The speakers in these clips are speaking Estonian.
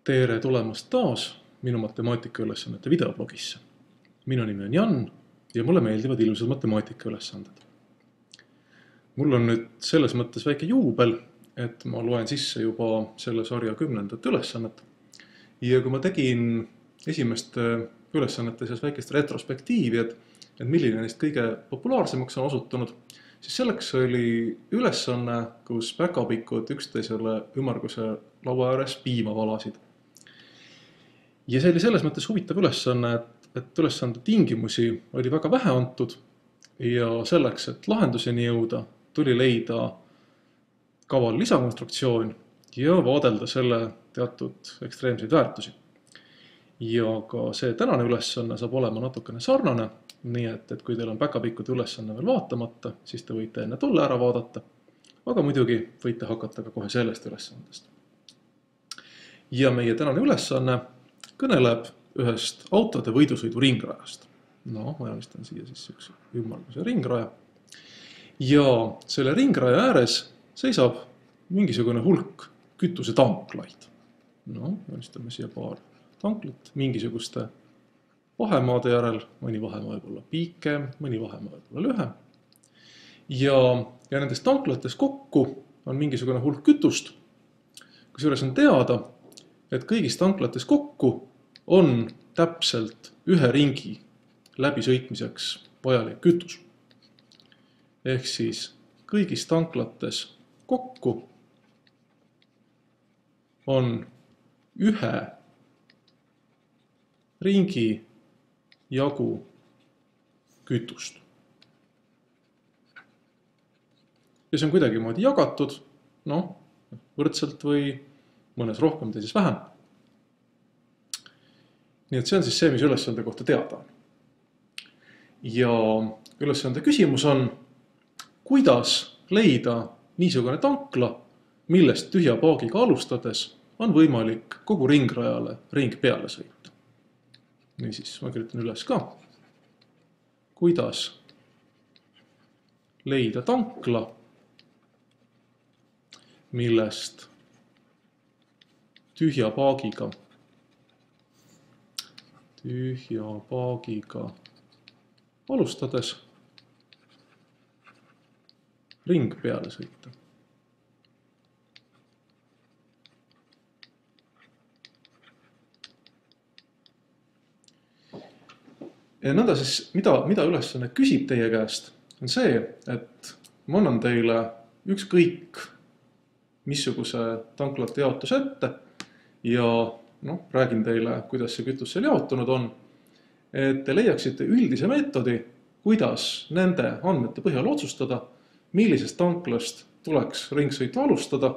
Tere tulemast taas minu matemaatikaülesannete videoblogisse. Minu nimi on Jan ja mulle meeldivad ilusad matemaatikaülesanded. Mul on nüüd selles mõttes väike juubel, et ma loen sisse juba selle sarja 10. ülesannet. Ja kui ma tegin esimeste ülesannete seas väikest retrospektiivi, et milline neist kõige populaarsemaks on osutunud, siis selleks oli ülesanne, kus päkapikud üksteisele ümmarguse laua ääres piima valasid. Ja see oli selles mõttes huvitav ülesanne, et ülesande tingimusi oli väga vähe antud ja selleks, et lahenduseni jõuda, tuli leida kaval lisakonstruktsioon ja vaadelda selle teatud ekstreemseid väärtusi. Ja ka see tänane ülesanne saab olema natukene sarnane, nii et kui teil on päkapikkude ülesanne veel vaatamata, siis te võite enne tolle ära vaadata, aga muidugi võite hakata ka kohe sellest ülesandest. Ja meie tänane ülesanne kõneleb ühest autode võidusõidu ringrajast. Ma joonistan siia siis üks ümmarguse ringraja. Ja selle ringraja ääres seisab mingisugune hulk kütusetanklaid. Joonistame siia paar tanklat mingisuguste vahemaade järel, mõni vahemaa võib olla pikem, mõni vahemaa võib olla lühem. Ja nendes tanklates kokku on mingisugune hulk kütust, kusjuures on teada, et kõigis tanklates kokku on täpselt ühe ringi läbisõitmiseks vajalik kütus. Ehk siis kõigis tanklates kokku on ühe ringi jagu kütust. Ja see on kuidagi moodi jagatud, võrdselt või mõnes rohkem, teises vähem. Nii et see on siis see, mis ülesande kohta teada on. Ja ülesande küsimus on, kuidas leida niisugune tankla, millest tühja paagiga alustades on võimalik kogu ringrajale ring peale sõita. Niisiis, ma kirjutan üles ka. Kuidas leida tankla, millest tühja paagiga alustades ring peale sõita. Ja nõnda siis, mida ülesanne küsib teie käest, on see, et ma annan teile ükskõik missuguse tanklate jaotus ette ja räägin teile, kuidas see kütus seal jaotunud on, et te leiaksite üldise meetodi, kuidas nende andmete põhjal otsustada, millisest tanklast tuleks ringsõitu alustada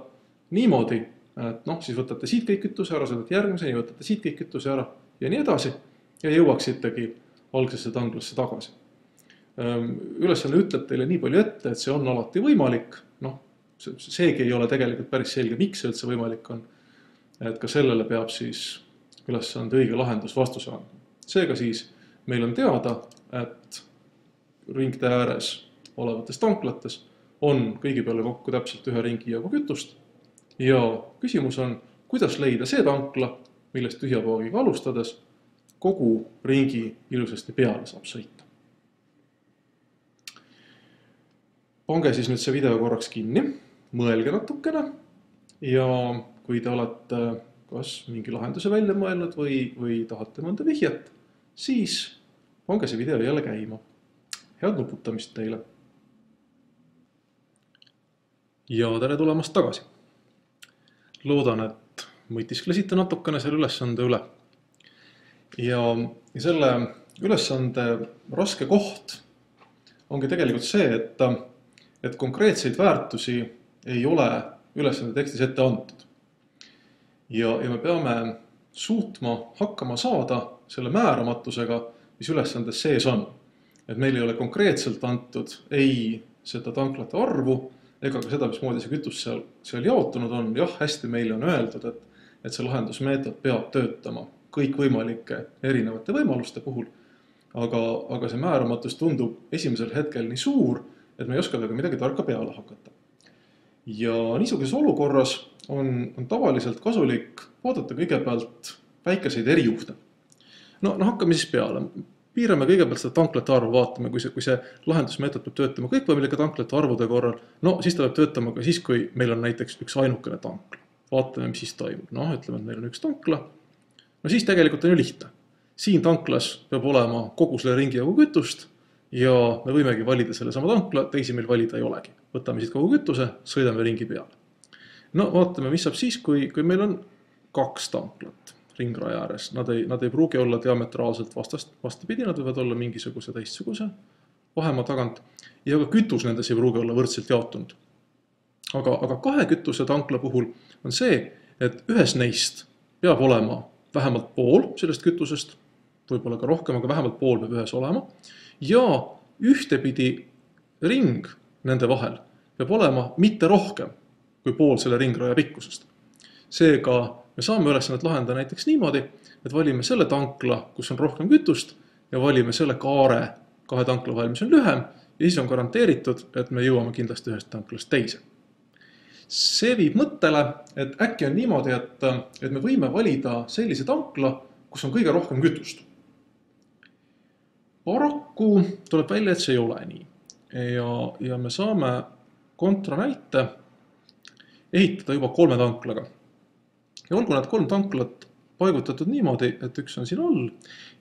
niimoodi, et siis võtate siit kõik kütuse ära, sõidate järgmiseni, võtate siit kõik kütuse ära ja nii edasi ja jõuaksitegi algsesse tanklasse tagasi. Ülesanne ütleb teile nii palju ette, et see on alati võimalik. Seegi ei ole tegelikult päris selge, miks see üldse võimalik on. Et ka sellele peab siis ülesande õige lahendus vastuse andma. Seega siis meil on teada, et ringte ääres olevates tanklates on kõigi peale kokku täpselt ühe ringi jagu kütust. Ja küsimus on, kuidas leida see tankla, millest tühja paagiga alustades kogu ringi ilusasti peale saab sõita. Pange siis nüüd see video korraks kinni, mõelge natukene ja kui te olete kas mingi lahenduse välja mõelnud või tahate mõnda vihjet, siis pange see video jälle käima. Head nuputamist teile. Ja tere tulemast tagasi. Loodan, et mõtisklesite natukene selle ülesande üle. Ja selle ülesande raske koht ongi tegelikult see, et konkreetseid väärtusi ei ole ülesande tekstis ette antud. Ja me peame suutma hakkama saada selle määramatusega, mis ülesandes sees on. Et meil ei ole konkreetselt antud ei seda tanklate arvu, ega ka seda, mismoodi see kütus seal jaotunud on. Jah, hästi meile on öeldud, et see lahendusmeetod peab töötama kõikvõimalike erinevate võimaluste puhul, aga see määramatus tundub esimesel hetkel nii suur, et me ei oska temaga midagi tarka peale hakata. Ja niisuguses olukorras on tavaliselt kasulik vaadata kõigepealt väikeseid erijuhte. No hakkame siis peale. Piirame kõigepealt seda tanklate arvu, vaatame, kui see lahendusmeetod peab töötama kõikvõimalike tanklate arvude korral, siis ta peab töötama ka siis, kui meil on näiteks üks ainukene tankla. Vaatame, mis siis toimub. Ütleme, et meil on üks tankla. Siis tegelikult on ju lihtne. Siin tanklas peab olema kogu selle ringi jagu kütust ja me võimegi valida selle sama tankla, teisi meil valida ei olegi. Võtame siit kogu kütuse, sõidame ringi peale. Vaatame, mis saab siis, kui meil on 2 tanklat ringraja ääres. Nad ei pruugi olla diametraalselt vastapidi, nad võivad olla mingisuguse teistsuguse vahemaa tagant ja ka kütus nendes ei pruugi olla võrdselt jaotunud. Aga 2 kütuse tankla puhul on see, et ühes neist peab olema vähemalt pool sellest kütusest, võib-olla ka rohkem, aga vähemalt pool peab ühes olema ja ühtepidi ring nende vahel peab olema mitte rohkem kui pool selle ringraja pikkusest. Seega me saame ülesannet lahendada näiteks niimoodi, et valime selle tankla, kus on rohkem kütust ja valime selle kaare 2 tankla vahel, mis on lühem ja siis on garanteeritud, et me jõuame kindlasti ühest tanklast teise. See viib mõttele, et äkki on niimoodi, et me võime valida sellise tankla, kus on kõige rohkem kütust. Paraku tuleb välja, et see ei ole nii. Ja me saame kontranäite ehitada juba 3 tanklaga. Ja olgu need 3 tanklat paigutatud niimoodi, et üks on siin all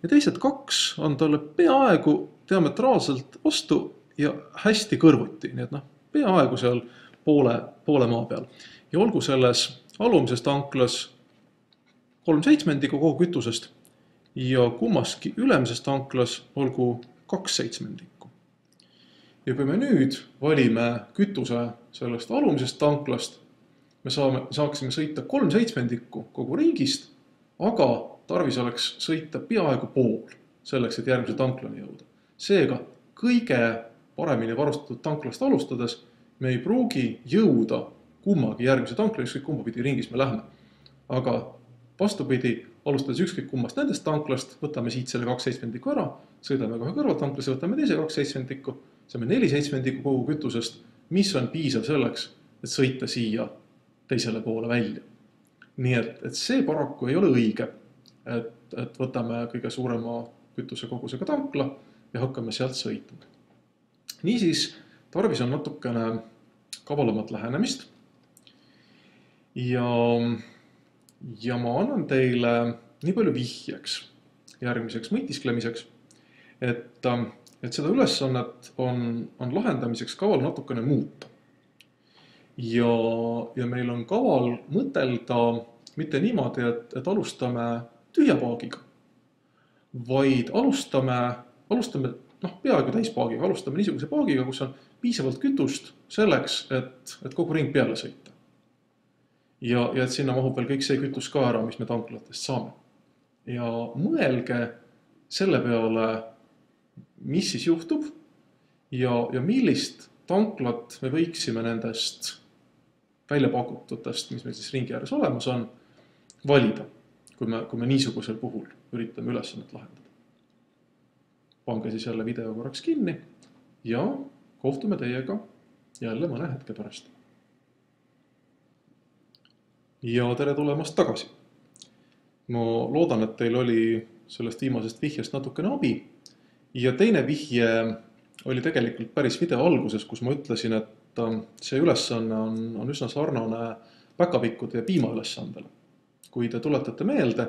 ja teised 2 on talle peaaegu diametraalselt vastu ja hästi kõrvuti. Nii et peaaegu seal poole maa peal. Ja olgu selles alumises tanklas 3/7 kogu kütusest ja kummaski ülemises tanklas olgu 2/7. Ja kui me nüüd valime kütuse sellest alumisest tanklast, me saaksime sõita 3/7 kogu ringist, aga tarvis oleks sõita peaaegu pool selleks, et järgmise tanklani jõuda. Seega kõige paremini varustatud tanklast alustades me ei pruugi jõuda kummagi järgmise tanklani, ükskõik kumba pidi ringis me lähme. Aga vastupidi, alustades ükskõik kummast nendest tanklast, võtame siit selle 2/7 ära, sõidame kohe kõrvaltanklasse, võtame teise 2/7, saame 4/7 kogu kütusest, mis on piisav selleks, et sõita siia teisele poole välja. Nii et see paraku ei ole õige, et võtame kõige suurema kütuse kogusega tankla ja hakkame sealt sõitma. Niisiis, tarvis on natukene kavalamat lähenemist ja ma annan teile nii palju vihjeks järgmiseks mõtisklemiseks, et seda ülesannet on lahendamiseks kaval natukene muuta. Ja meil on kaval mõtelda mitte niimoodi, et alustame tühja paagiga, vaid alustame peaaegu täispaagiga, alustame niisuguse paagiga, kus on piisavalt kütust selleks, et kogu ring peale sõita. Ja et sinna mahub veel kõik see kütus ka ära, mis me tanklatest saame. Ja mõelge selle peale, mis siis juhtub ja millist tanklat me võiksime nendest välja pakututest, mis meil siis ringi ääres olemas on, valida, kui me niisugusel puhul üritame ülesannet lahendada. Pange siis jälle video korraks kinni ja kohtume teiega jälle mõne hetke pärast. Ja tere tulemast tagasi. Ma loodan, et teil oli sellest viimasest vihjest natukene abi ja teine vihje oli tegelikult päris video alguses, kus ma ütlesin, et see ülesanne on üsna sarnane päkapikkude ja piima ülesandele. Kui te tuletate meelde,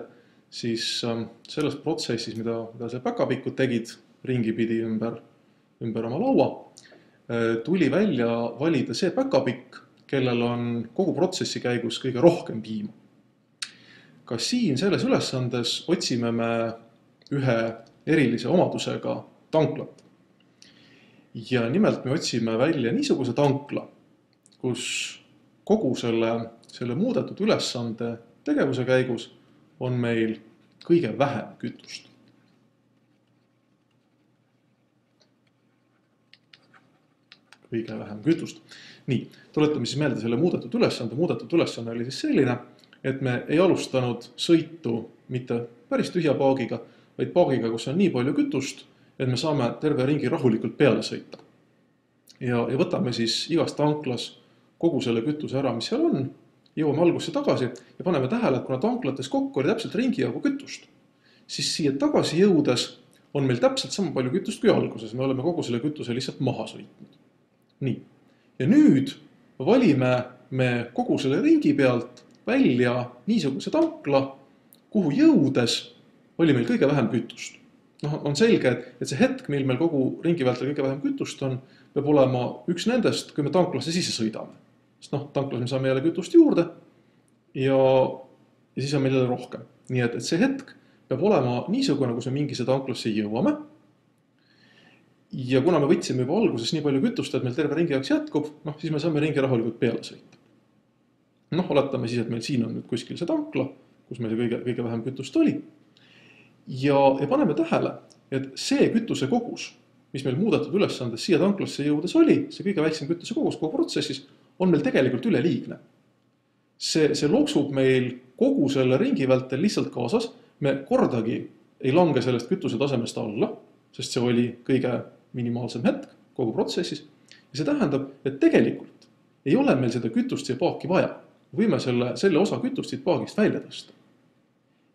siis selles protsessis, mida see päkapikud tegid ringipidi ümber oma laua, tuli välja valida see päkapikk, kellel on kogu protsessi käigus kõige rohkem piima. Ka siin selles ülesandes otsime me ühe erilise omadusega tanklat. Ja nimelt me otsime välja niisuguse tankla, kus kogu selle muudetud ülesande tegevuse käigus on meil kõige vähem kütust. Kõige vähem kütust. Nii, tuletame siis meelde selle muudetud ülesande. Muudetud ülesanne oli siis selline, et me ei alustanud sõitu mitte päris tühja paagiga, vaid paagiga, kus on nii palju kütust, et me saame terve ringi rahulikult peale sõita. Ja võtame siis igas tanklas kogu selle kütuse ära, mis seal on, jõuame algusse tagasi ja paneme tähele, et kuna tanklates kokku oli täpselt ringi jagu kütust, siis siia tagasi jõudes on meil täpselt sama palju kütust kui alguses. Me oleme kogu selle kütuse lihtsalt maha sõitnud. Nii. Ja nüüd valime me kogu selle ringi pealt välja niisuguse tankla, kuhu jõudes oli meil kõige vähem kütust. On selge, et see hetk, mil meil kogu ringi vältel kõige vähem kütust on, peab olema üks nendest, kui me tanklasse sisse sõidame. Sest tanklas me saame jälle kütust juurde ja siis on meil jälle rohkem. Nii et see hetk peab olema niisugune, kus me mingisse tanklasse jõuame. Ja kuna me võtsime juba alguses nii palju kütust, et meil terve ringi jaoks jätkub, siis me saame ringi rahulikult peale sõita. Oletame siis, et meil siin on nüüd kuskil see tankla, kus meil kõige vähem kütust oli. Ja paneme tähele, et see kütuse kogus, mis meil muudetud ülesandes siia tanklasse jõudes oli, see kõige väiksem kütuse kogus kogu protsessis, on meil tegelikult üleliigne. See loksub meil kogu selle ringi vältel lihtsalt kaasas. Me kordagi ei lange sellest kütuse tasemest alla, sest see oli kõige minimaalsem hetk kogu protsessis. Ja see tähendab, et tegelikult ei ole meil seda kütust siia paaki vaja. Võime selle osa kütust siit paagist välja tõsta.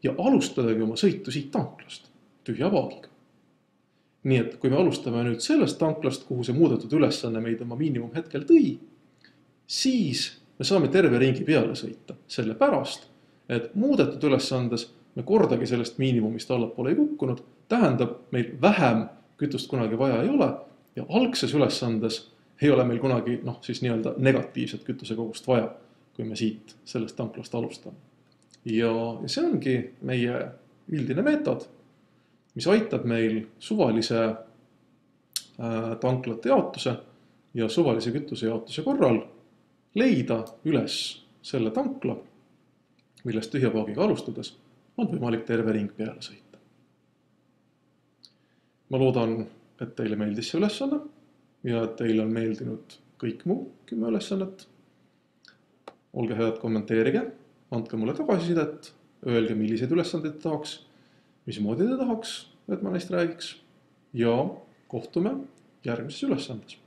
Ja alustadagi oma sõitu siit tanklast, tühja paagiga. Nii et kui me alustame nüüd sellest tanklast, kuhu see muudetud ülesanne meid oma miinimum hetkel tõi, siis me saame terve ringi peale sõita. Selle pärast, et muudetud ülesandes me kordagi sellest miinimumist allapoole ei kukkunud, tähendab, meil vähem kütust kunagi vaja ei ole ja algses ülesandes ei ole meil kunagi siis nii-öelda negatiivset kütuse kogust vaja, kui me siit sellest tanklast alustame. Ja see ongi meie üldine meetod, mis aitab meil suvalise tanklate jaotuse ja suvalise kütuse jaotuse korral leida üles selle tankla, millest tühja paagiga alustades on võimalik terve ring peale sõita. Ma loodan, et teile meeldis see ülesanne ja et teile on meeldinud kõik muu 10 ülesannet. Olge head, kommenteerige, andke mulle tagasisidet, öelge, milliseid ülesandeid tahaks, mismoodi te tahaks, et ma neist räägiks ja kohtume järgmises ülesandes.